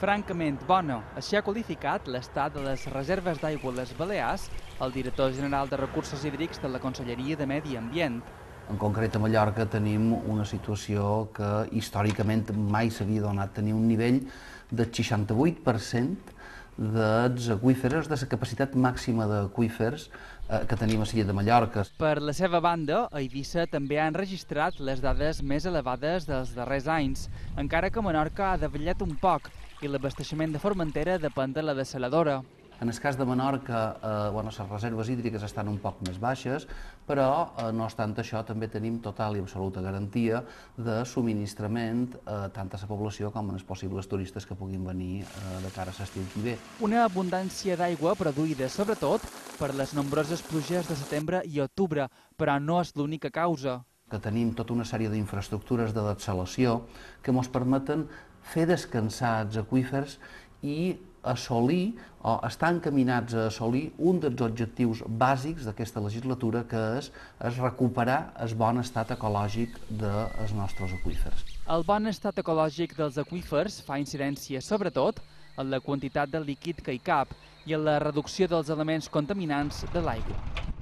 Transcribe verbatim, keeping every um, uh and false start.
Francament bona. Així ha qualificat l'estat de les reserves d'aigua a les Balears el director general de Recursos Hídrics de la Conselleria de Medi Ambient. En concret, a Mallorca tenim una situació que històricament mai s'havia donat, tenir un nivell del seixanta-vuit per cent dels aqüífers, de la capacitat màxima d'aqüífers que tenim a l'illa de Mallorca. Per la seva banda, a Eivissa també han registrat les dades més elevades dels darrers anys, encara que Menorca ha davallat un poc i l'abasteixement de Formentera depèn de la dessaladora. En el cas de Menorca, eh, bueno, les reserves hídriques estan un poc més baixes, però, eh, no obstant això, també tenim total i absoluta garantia de subministrament eh, tant a la població com als possibles turistes que puguin venir eh, de cara a l'estiu que ve. Una abundància d'aigua produïda sobretot per les nombroses pluges de setembre i octubre, però no és l'única causa. Que tenim tota una sèrie d'infraestructures de dessalació que ens permeten fer descansar els aqüífers i assolir o estar encaminats a assolir un dels objectius bàsics d'aquesta legislatura, que és, és recuperar el bon estat ecològic dels nostres aqüífers. El bon estat ecològic dels aqüífers fa incidència sobretot en la quantitat de líquid que hi cap i en la reducció dels elements contaminants de l'aigua.